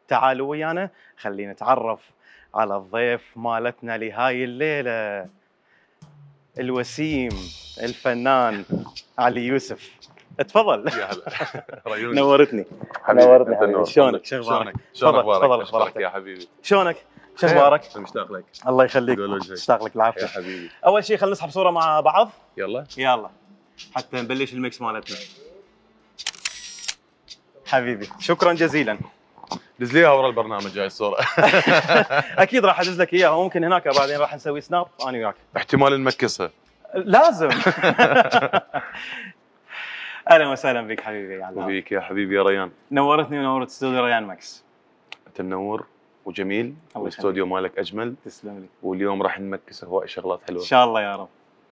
تعالوا ويانا خلينا نتعرف على الضيف مالتنا لهاي الليلة، الوسيم الفنان علي يوسف. اتفضل. يا هلا. نورتني حبيبي. شلونك؟ شو اخبارك؟ شلون اخبارك يا حبيبي؟ شلونك؟ شو اخبارك؟ مشتاق لك. الله يخليك، مشتاق لك العافية يا حبيبي. اول شيء خلينا نسحب صورة مع بعض. يلا حتى نبلش الميكس مالتنا. حبيبي شكرا جزيلا. دز لي ورا البرنامج جاي الصورة. اكيد راح ادز لك اياها، وممكن هناك بعدين راح نسوي سناب انا وياك. احتمال نمكسها. لازم. اهلا وسهلا بك حبيبي. وبيك يا حبيبي يا ريان. نورتني ونورت استوديو ريان ماكس. انت منور وجميل، والاستوديو مالك اجمل. تسلم لي. واليوم راح نمكس هواي شغلات حلوه ان شاء الله يا رب.